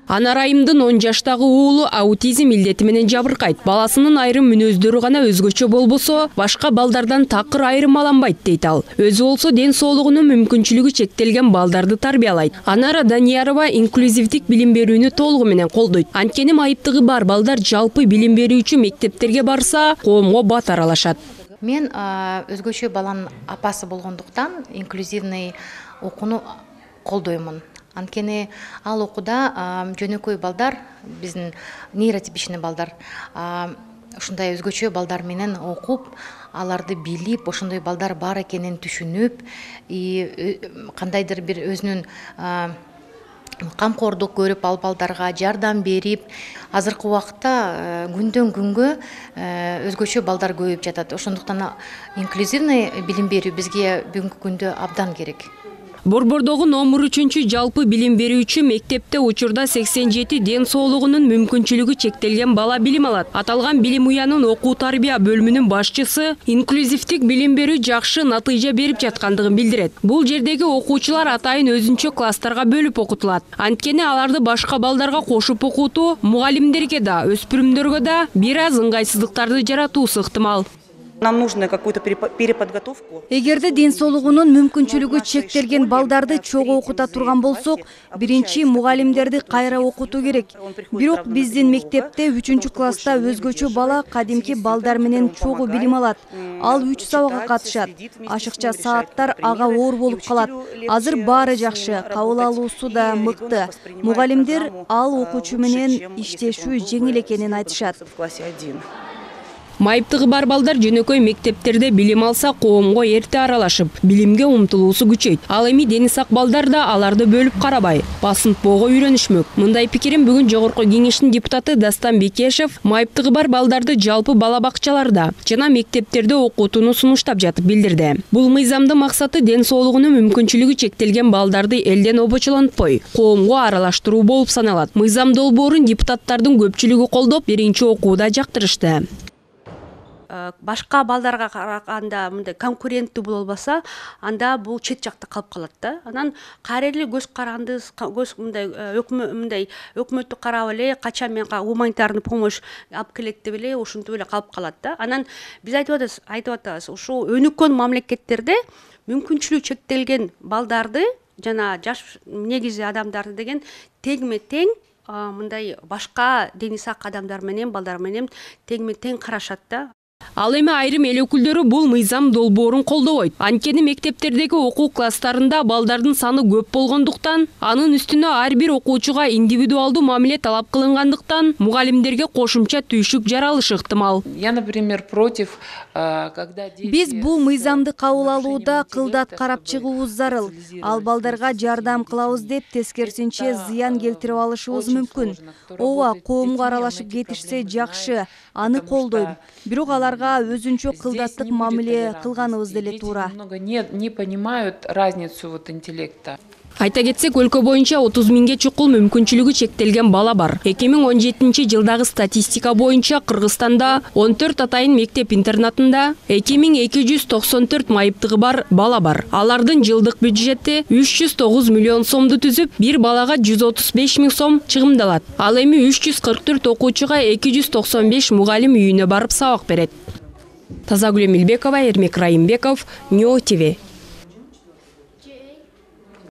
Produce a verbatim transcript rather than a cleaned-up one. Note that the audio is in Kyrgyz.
Анар Айымдын он жаштагы уулу аутизм илдети менен жабыркайт. Баласынын айрым мүнөздөрү гана өзгөчө болбосо, башка балдардан такыр айырмаланбайт дейт ал. Өзү болсо ден соолугунун мүмкүнчүлүгү чектелген балдарды тарбиялайт. Анара Даниярова инклюзивдик билим берүүнү толугу менен колдойт. Анткени майыптыгы бар балдар жалпы билим берүүчү мектептерге барса, коомго бат аралашат. Мен өзгөчө баланын апасы болгондуктан инклюзивный окууну колдоймун. Анткени ал окууда жөнөкөй балдар, биздин нейротипичный балдар, ушундай өзгөчө балдар менен окуп, аларды билип, ошондой балдар бар экенин түшүнүп, кандайдыр бир өзүнүн камкордук көрүп, ал балдарга жардам берип, азыркы убакытта күндөн күнгө өзгөчө балдар көбөйүп жатат. Ошондуктан инклюзивный билим берүү бизге бүгүнкү күндө абдан керек. Борбордогу номер үчүнчү жалпы билим берүүчү мектепте учурда сексен жети ден соолугунун мүмкүнчүлүгү чектелген бала билим алат. Аталган билим уянын окуу тарбия бөлүмүнүн башчысы инклюзивдик билим берүү жакшы натыйжа берип жаткандыгын билдирет. Бул жердеги окуучулар атайын өзүнчө класстарга бөлүп окутулат. Анткени аларды башка балдарга кошуп окутуу мугалимдерге да, өспүрүмдөргө да бир аз ыңгайсыздыктарды жаратуусу ыктымал. Нам нужно какую-то переподготовку. Эгерде ден соолугунун мүмкүнчүлүгү чектелген балдарды чогуу окута турган болсок, биринчи мугалимдерди кайра окутуу керек. Бирок биздин мектепте үчүнчү класста өзгөчө бала кадимки балдар менен чогуу билим алат. Ал үч сабакка катышат. Ашыкча сааттар ага оор болуп калат. Азыр баары жакшы, кабыл алуусу да мыкты. Мугалимдер ал окуучу менен иштешүү жеңил экенин айтышат. Майыптыгы бар балдар жөнөкөй мектептерде билим алса, коомго эрте аралашып, билимге умтулуусу күчөйт. Ал эми дени сак балдар да аларды бөлүп карабай, басынтпоого үйрөнүшмөк. Мындай пикирин бүгүн Жогорку Кеңештин депутаты Дастан Бекешев майыптыгы бар балдарды жалпы бала бакчаларда жана мектептерде окутууну сунуштап жатып билдирди. Бул мыйзамдын максаты ден соолугунун мүмкүнчүлүгү чектелген балдарды элден обочолонтпой, коомго аралаштыруу болуп саналат. Мыйзам долбоорун депутаттардын көпчүлүгү колдоп, биринчи окууда жактырышты. Башка балдарга караганда мындай конкуренттүү болбосо, анда бул чет жакта калып калат да. Анан кайрылы көз каранды, көз мындай мындай өкмөттү карап эле, качан мен гуманитарный помощь алып келет деп эле ушинтип эле калып калат да. Анан биз айтып атабыз, айтып атабыз, ушул өнүккөн мамлекеттерде мүмкүнчүлүгү чектелген балдарды жана жаш негизи адамдарды деген теңме тең мындай башка дени сак адамдар менен, балдар менен теңме тең карашат да. Ал эми айрым эл өкүлдөрү бул мыйзам долбоорун колдобойт. Анткени мектептердеги окуу класстарында балдардын саны көп болгондуктан, анын үстүнө ар бир окуучуга индивидуалдуу мамиле талап кылынгандыктан, мугалимдерге кошумча түйшүк жаралышы ыктымал. Я, например, против, когда дети... Биз бул мыйзамды кабыл алууда кылдат карап чыгуубуз зарыл. Ал балдарга жардам кылабыз деп тескерисинче зыян келтирип алышыбыз мүмкүн. Ооба, коомго аралашып кетишсе жакшы, аны колдойм. Бирок аларга өзүнчө кылдаттык мамиле кылганыбыз деле туура. Не понимают разницу вот интеллекта. Айта кетсек, өлкө боюнча отуз миңге чукул мүмкүнчүлүгү чектелген бала бар. эки миң он жетинчи жылдагы статистика боюнча Кыргызстанда он төрт атайын мектеп-интернатында эки миң эки жүз токсон төрт майыптыгы бар бала бар. Алардын жылдык бюджети үч жүз тогуз миллион сомду түзүп, бир балага жүз отуз беш миң сом чыгымдалат. Ал эми үч жүз кырк төрт окуучуга эки жүз токсон беш мугалим үйүнө барып сабак берет. Тазагүл Эмилбекова, Эрмек Райымбеков, Ньо ТВ.